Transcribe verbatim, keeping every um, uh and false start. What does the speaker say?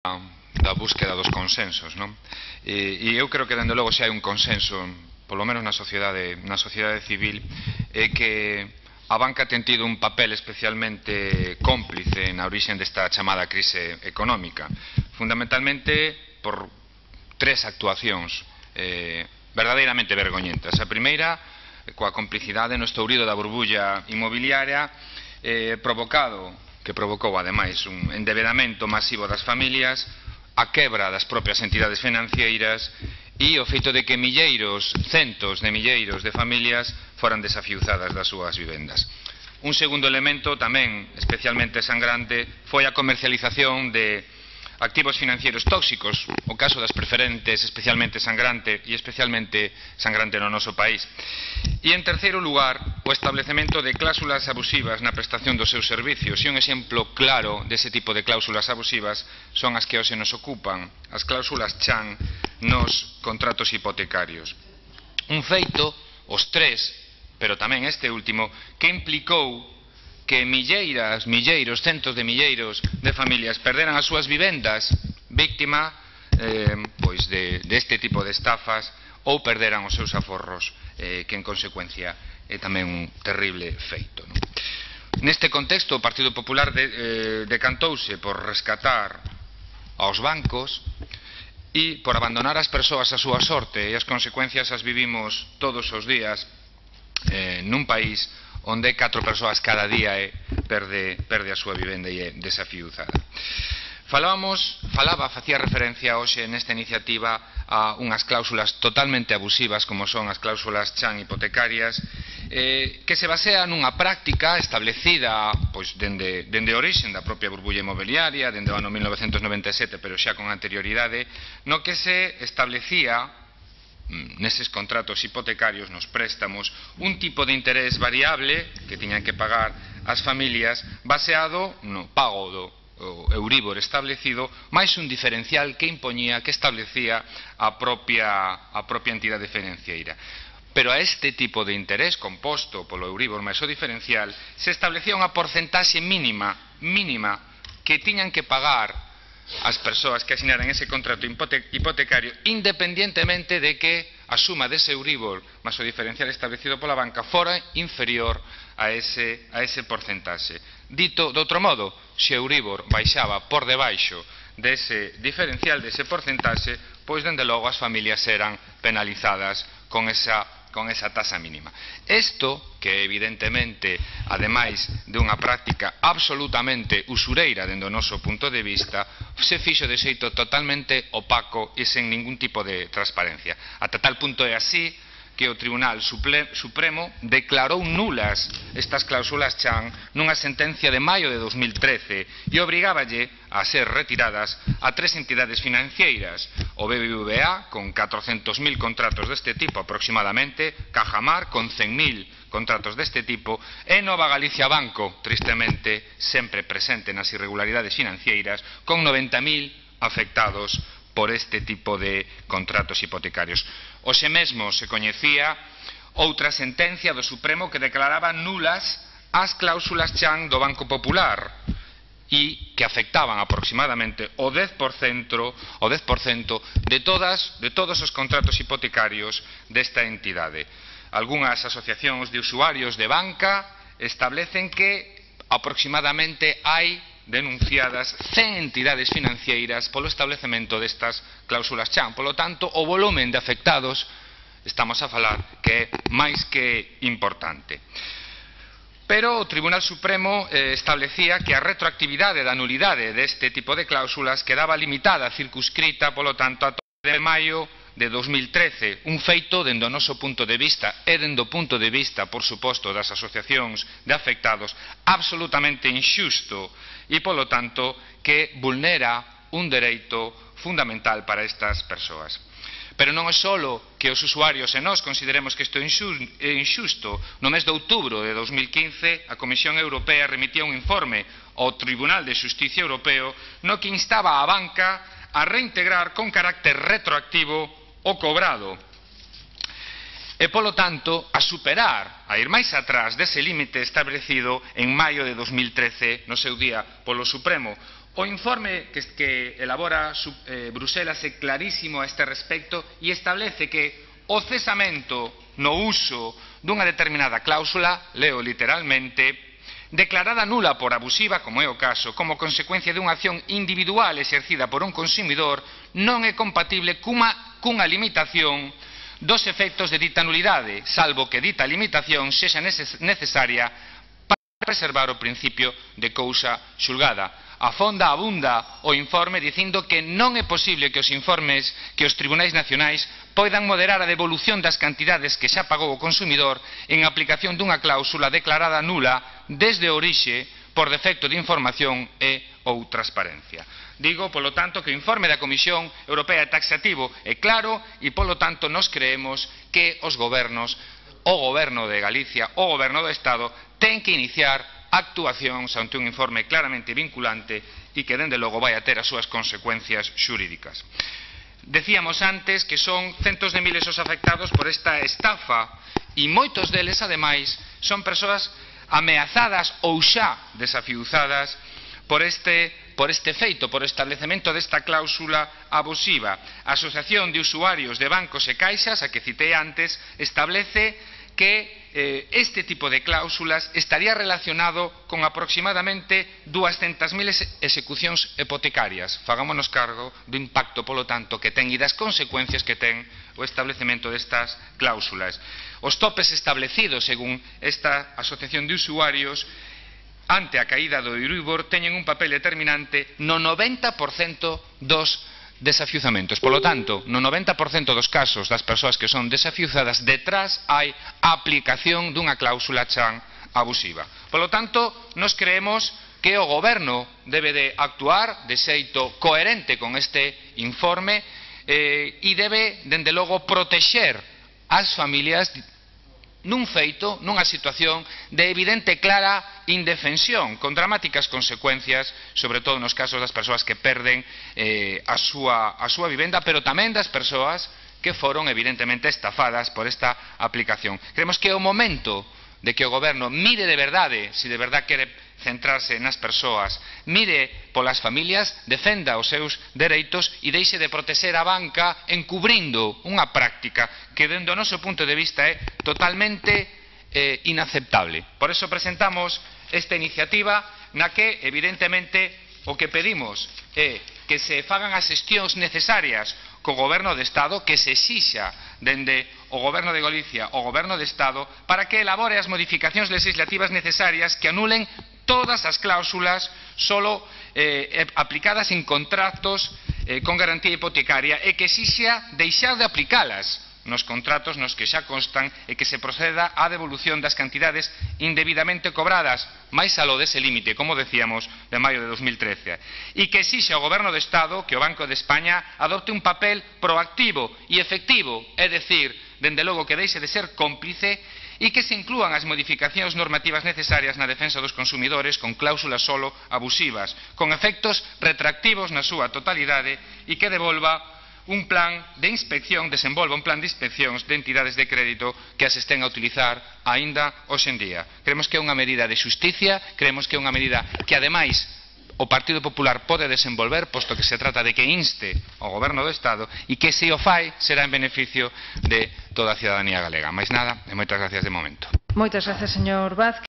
da búsqueda dos consensos, non? E, e eu creo que, dende logo, se hai un consenso, polo menos na sociedade, na sociedade civil, é que a banca ten tido un papel especialmente cómplice na orixen desta chamada crise económica, fundamentalmente por tres actuacións eh, verdadeiramente vergoñentas. A primeira, coa complicidade no estourido da burbulla inmobiliaria eh, provocado, que provocou ademais un endevedamento masivo das familias, a quebra das propias entidades financeiras e o feito de que milleiros, centos de milleiros de familias foran desafiuzadas das súas vivendas. Un segundo elemento tamén especialmente sangrante foi a comercialización de activos financieros tóxicos, o caso das preferentes especialmente sangrante e especialmente sangrante no noso país. E en terceiro lugar, o establecemento de cláusulas abusivas na prestación dos seus servicios, e un exemplo claro dese tipo de cláusulas abusivas son as que hoxe nos ocupan, as cláusulas chan nos contratos hipotecarios. Un feito, os tres, pero tamén este último, que implicou que milleiras, milleiros, centos de milleiros de familias perderan as súas vivendas víctima eh, pois de, de este tipo de estafas ou perderan os seus aforros, eh, que en consecuencia é tamén un terrible feito, non? Neste contexto, o Partido Popular de, eh, decantouse por rescatar aos bancos e por abandonar as persoas a súa sorte, e as consecuencias as vivimos todos os días eh, nun país onde catro persoas cada día eh, perde, perde a súa vivenda e é desafiuzada. Falábamos, falaba, facía referencia hoxe nesta iniciativa a unhas cláusulas totalmente abusivas como son as cláusulas chan hipotecarias, eh, que se basea nunha práctica establecida pois, dende, dende a orixen da propia burbulla inmobiliaria, dende o ano mil novecentos noventa e sete, pero xa con anterioridade, no que se establecía neses contratos hipotecarios, nos préstamos, un tipo de interés variable que tiñan que pagar as familias baseado no pago do Euribor establecido, máis un diferencial que impoñía, que establecía a propia, a propia entidade financiera. Pero a este tipo de interés composto polo Euribor máis o diferencial se establecía unha porcentaxe mínima, mínima que tiñan que pagar as persoas que asinaran ese contrato hipotecario, independientemente de que a suma dese Euribor máis o diferencial establecido pola banca fora inferior a ese, a ese porcentaxe. Dito de outro modo, se o Euribor baixaba por debaixo dese diferencial, dese porcentaxe, pois dende logo as familias eran penalizadas con esa con esa tasa mínima. Isto, que evidentemente, ademais de unha práctica absolutamente usureira dende o noso punto de vista, se fixo de xeito totalmente opaco e sen ningún tipo de transparencia. Ata tal punto é así que o Tribunal Supremo declarou nulas estas cláusulas chan nunha sentencia de maio de dos mil trece e obrigáballe a ser retiradas a tres entidades financeiras, o B B V A con catrocentos mil contratos deste tipo aproximadamente, Cajamar con cen mil contratos deste tipo e Nova Galicia Banco, tristemente sempre presente nas irregularidades financeiras, con noventa mil afectados por este tipo de contratos hipotecarios. Hoxe mesmo se coñecía outra sentencia do Supremo que declaraba nulas as cláusulas chan do Banco Popular e que afectaban aproximadamente o dez por cento, o dez por cento de, todas, de todos os contratos hipotecarios desta entidade. Algúnas asociacións de usuarios de banca establecen que aproximadamente hai denunciadas cen entidades financeiras polo establecemento destas cláusulas chan. Polo tanto, o volumen de afectados, estamos a falar, que é máis que importante. Pero o Tribunal Supremo eh, establecía que a retroactividade da nulidade deste tipo de cláusulas quedaba limitada, circunscrita, polo tanto, a de maio de dos mil trece, un feito dende o noso punto de vista e dende o punto de vista, por suposto, das asociacións de afectados, absolutamente inxusto e, polo tanto, que vulnera un dereito fundamental para estas persoas. Pero non é só que os usuarios e nós consideremos que isto é inxusto. No mes de outubro de dos mil quince, a Comisión Europea remitía un informe ao Tribunal de Xusticia Europeo no que instaba a banca a reintegrar con carácter retroactivo o cobrado e, polo tanto, a superar, a ir máis atrás dese límite establecido en maio de dos mil trece no seu día polo Supremo. O informe que, que elabora eh, Bruselas é clarísimo a este respecto e establece que o cesamento no uso dunha determinada cláusula, leo literalmente, declarada nula por abusiva, como é o caso, como consecuencia dunha acción individual exercida por un consumidor, non é compatible cunha, cunha limitación dos efectos de dita nulidade, salvo que dita limitación sexa necesaria para preservar o principio de cousa xulgada. Afonda abunda o informe dicindo que non é posible que os informes que os tribunais nacionais poidan moderar a devolución das cantidades que xa pagou o consumidor en aplicación dunha cláusula declarada nula desde a orixe por defecto de información e ou transparencia. Digo, polo tanto, que o informe da Comisión Europea é taxativo e claro e, polo tanto, nos creemos que os gobernos, o goberno de Galicia, o goberno do Estado, ten que iniciar actuacións ante un informe claramente vinculante e que, dende logo, vai a ter as súas consecuencias xurídicas. Decíamos antes que son centos de miles os afectados por esta estafa e moitos deles, ademais, son persoas ameazadas ou xa desafiuzadas por este, por este feito, por establecemento desta cláusula abusiva. A Asociación de Usuarios de Bancos e Caixas, a que citei antes, establece que eh, este tipo de cláusulas estaría relacionado con aproximadamente dúascentas mil execucións hipotecarias. Fagámonos cargo do impacto, polo tanto, que ten e das consecuencias que ten o establecemento destas cláusulas. Os topes establecidos, según esta Asociación de Usuarios, ante a caída do Euribor, teñen un papel determinante no noventa por cento dos desafiuzamentos. Polo tanto, no noventa por cento dos casos das persoas que son desafiuzadas, detrás hai a aplicación dunha cláusula chan abusiva. Polo tanto, nos creemos que o goberno debe de actuar de xeito coherente con este informe eh, e debe, dende logo, protexer as familias nun feito, nunha situación de evidente clara indefensión, con dramáticas consecuencias, sobre todo nos casos das persoas que perden eh, a, súa, a súa vivenda, pero tamén das persoas que foron evidentemente estafadas por esta aplicación. Creemos que é o momento de que o goberno mire de verdade, se de verdade quere centrarse nas persoas, mire polas familias, defenda os seus dereitos e deixe de protexer a banca encubrindo unha práctica que, dende o noso punto de vista, é totalmente eh, inaceptable. Por eso presentamos esta iniciativa na que, evidentemente, o que pedimos é que se fagan as xestións necesarias co Goberno de Estado, que se exixa dende o Goberno de Galicia o Goberno de Estado para que elabore as modificacións legislativas necesarias que anulen todas as cláusulas solo eh, aplicadas en contratos eh, con garantía hipotecaria e que exixa deixar de aplicalas nos contratos nos que xa constan e que se proceda á devolución das cantidades indebidamente cobradas, máis aló dese límite, como decíamos, de maio de dos mil trece. E que exixe ao Goberno do Estado que o Banco de España adopte un papel proactivo e efectivo, é dicir, dende logo que deixe de ser cómplice e que se inclúan as modificacións normativas necesarias na defensa dos consumidores con cláusulas solo abusivas, con efectos retractivos na súa totalidade e que devolva un plan de inspección, desenvolva un plan de inspeccións de entidades de crédito que as estén a utilizar aínda hoxe en día. Creemos que é unha medida de xusticia, creemos que é unha medida que, ademais, o Partido Popular pode desenvolver, posto que se trata de que inste ao Goberno do Estado e que, se o fai, será en beneficio de toda a cidadanía galega. Mais nada, e moitas gracias de momento. Moitas gracias, señor Vázquez.